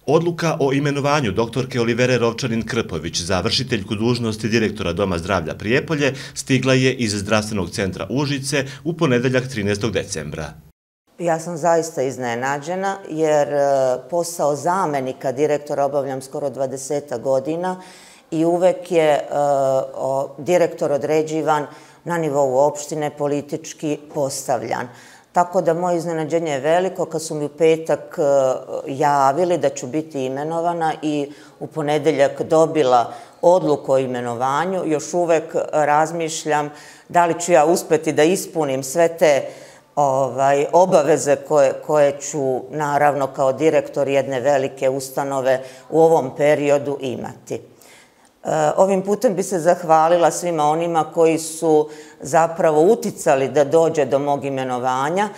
Odluka o imenovanju doktorke Olivere Rovčanin-Krpović za vršiteljku dužnosti direktora Doma zdravlja Prijepolje stigla je iz Zdravstvenog centra Užice u ponedeljak 13. decembra. Ja sam zaista iznenađena jer posao zamenika direktora obavljam skoro 20 godina i uvek je direktor određivan na nivou opštine, politički postavljan. Tako da moje iznenađenje je veliko kad su mi u petak javili da ću biti imenovana i u ponedeljak dobila odluku o imenovanju. Još uvek razmišljam da li ću ja uspeti da ispunim sve te obaveze koje ću naravno kao direktor jedne velike ustanove u ovom periodu imati. Ovim putem bi se zahvalila svima onima koji su zapravo uticali da dođe do mog imenovanja.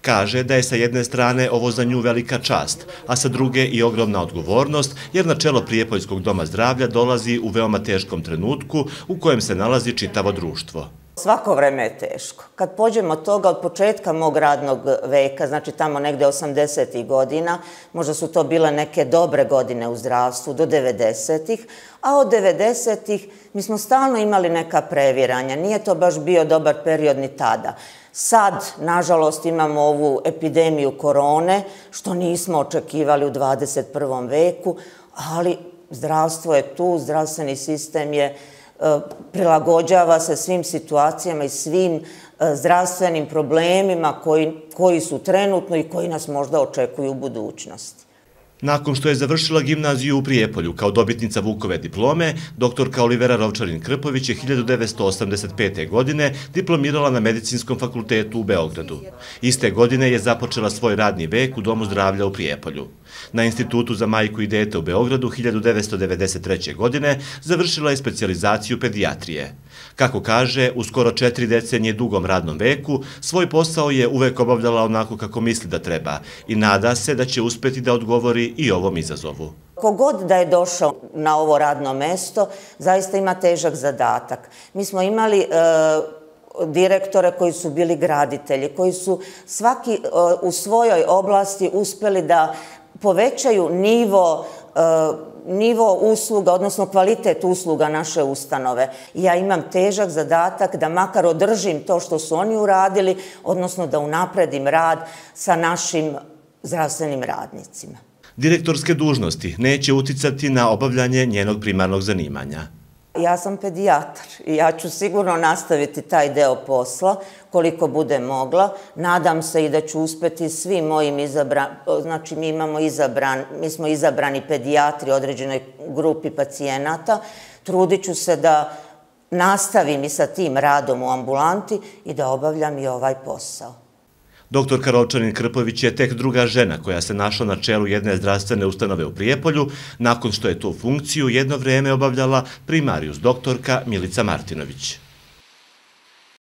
Kaže da je sa jedne strane ovo za nju velika čast, a sa druge i ogromna odgovornost, jer na čelo Prijepoljskog doma zdravlja dolazi u veoma teškom trenutku u kojem se nalazi čitavo društvo. Svako vreme je teško. Kad pođemo od toga, od početka mog radnog veka, znači tamo negde 80. godina, možda su to bile neke dobre godine u zdravstvu, do 90. A od 90. mi smo stalno imali neka previranja. Nije to baš bio dobar period ni tada. Sad, nažalost, imamo ovu epidemiju korone, što nismo očekivali u 21. veku, ali zdravstvo je tu, zdravstveni sistem je prilagođava se svim situacijama i svim zdravstvenim problemima koji su trenutno i koji nas možda očekuju u budućnosti. Nakon što je završila gimnaziju u Prijepolju kao dobitnica Vukove diplome, doktorka Olivera Rovčanin-Krpović je 1985. godine diplomirala na Medicinskom fakultetu u Beogradu. Iste godine je započela svoj radni vek u Domu zdravlja u Prijepolju. Na Institutu za majku i dete u Beogradu 1993. godine završila je specijalizaciju pedijatrije. Kako kaže, u skoro 4 decenije dugom radnom veku, svoj posao je uvek obavljala onako kako misli da treba i nada se da će uspeti da odgovori i ovom izazovu. Kogod da je došao na ovo radno mesto, zaista ima težak zadatak. Mi smo imali direktore koji su bili graditelji, koji su svaki u svojoj oblasti uspeli da povećaju nivo usluga, odnosno kvalitet usluga naše ustanove. Ja imam težak zadatak da makar održim to što su oni uradili, odnosno da unapredim rad sa našim zdravstvenim radnicima. Direktorske dužnosti neće uticati na obavljanje njenog primarnog zanimanja. Ja sam pedijatar i ja ću sigurno nastaviti taj deo posla koliko bude mogla. Nadam se i da ću uspeti svim mojim znači mi smo izabrani pedijatri određenoj grupi pacijenata. Trudit ću se da nastavim i sa tim radom u ambulanti i da obavljam i ovaj posao. Doktorka Rovčanin-Krpović je tek druga žena koja se našla na čelu jedne zdravstvene ustanove u Prijepolju, nakon što je tu funkciju jedno vreme obavljala primarijus doktorka Milica Martinović.